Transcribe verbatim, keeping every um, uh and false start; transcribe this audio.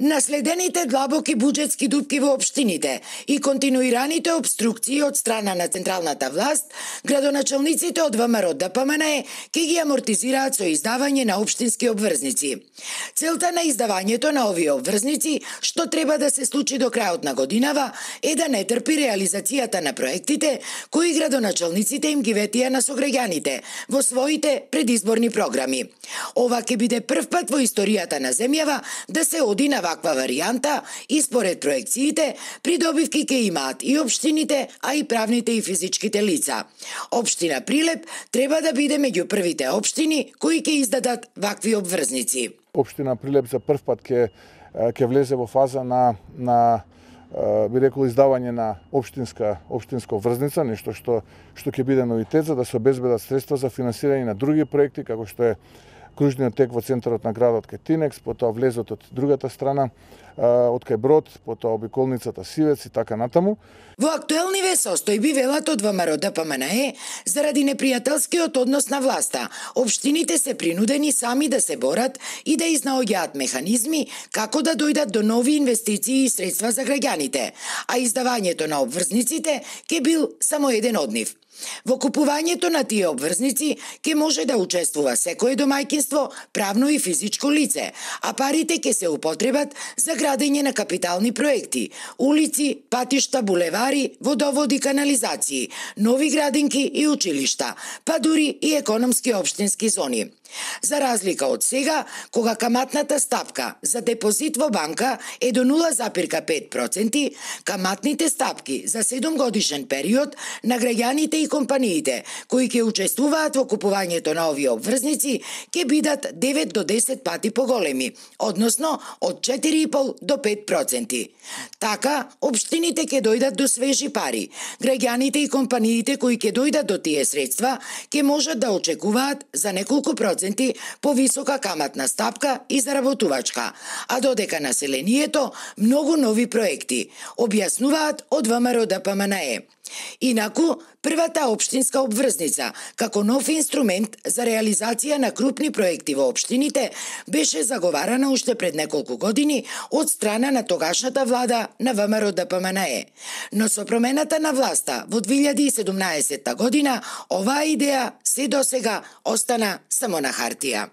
Наследените длабоки буџетски дупки во општините и континуираните обструкции од страна на централната власт, градоначалниците од ВМРО Д П М Н Е ќе ги амортизираат со издавање на општински обврзници. Целта на издавањето на овие обврзници, што треба да се случи до крајот на годинава, е да не трпи реализацијата на проектите кои градоначалниците им ги ветија на сограѓаните во своите предизборни програми. Ова ќе биде прв пат во историјата на земјава да се оди на ваква варијанта и според проекциите, придобивки ќе имаат и општините, а и правните и физичките лица. Општина Прилеп треба да биде меѓу првите општини кои ќе издадат вакви обврзници. Општина Прилеп за прв пат ќе ќе влезе во фаза на на би рекол издавање на општинска општинска обврзница, нешто што што ќе биде новитет за да се обезбедат средства за финансирање на други проекти како што е кружниот тек во центарот на градот кај Тинекс, потоа влезот од другата страна, од кај Брод, потоа обиколницата Сивец и така натаму. Во актуелниве состојби велат од ВМРО Д П М Н Е, заради непријателскиот однос на власта, општините се принудени сами да се борат и да изнаоѓаат механизми како да дојдат до нови инвестиции и средства за граѓаните, а издавањето на обврзниците ќе бил само еден од нив. Во купувањето на тие обврзници ќе може да учествува секое домајќинство, правно и физичко лице, а парите ќе се употребат за градење на капитални проекти, улици, патишта, булевари, водоводи, канализации, нови градинки и училишта, па дури и економски општински зони. За разлика од сега, кога каматната стапка за депозит во банка е до нула запирка пет проценти, каматните стапки за седумгодишен период на граѓаните и компаниите кои ќе учествуваат во купувањето на овие обврзници ќе бидат девет до десет пати поголеми, односно од четири и пол до пет проценти. Така, општините ќе дојдат до свежи пари. Граѓаните и компаниите кои ќе дојдат до тие средства ќе можат да очекуваат за неколку проценти повисока каматна стапка и заработувачка, а додека населението многу нови проекти, објаснуваат од ВМРО Д П М Н Е. Инаку, првата општинска обврзница, како нов инструмент за реализација на крупни проекти во општините, беше заговарана уште пред неколку години од страна на тогашната влада на ВМРО Д П М Н Е. Но со промената на власта во две илјади и седумнаесетта година, оваа идеја се досега остана само на хартија.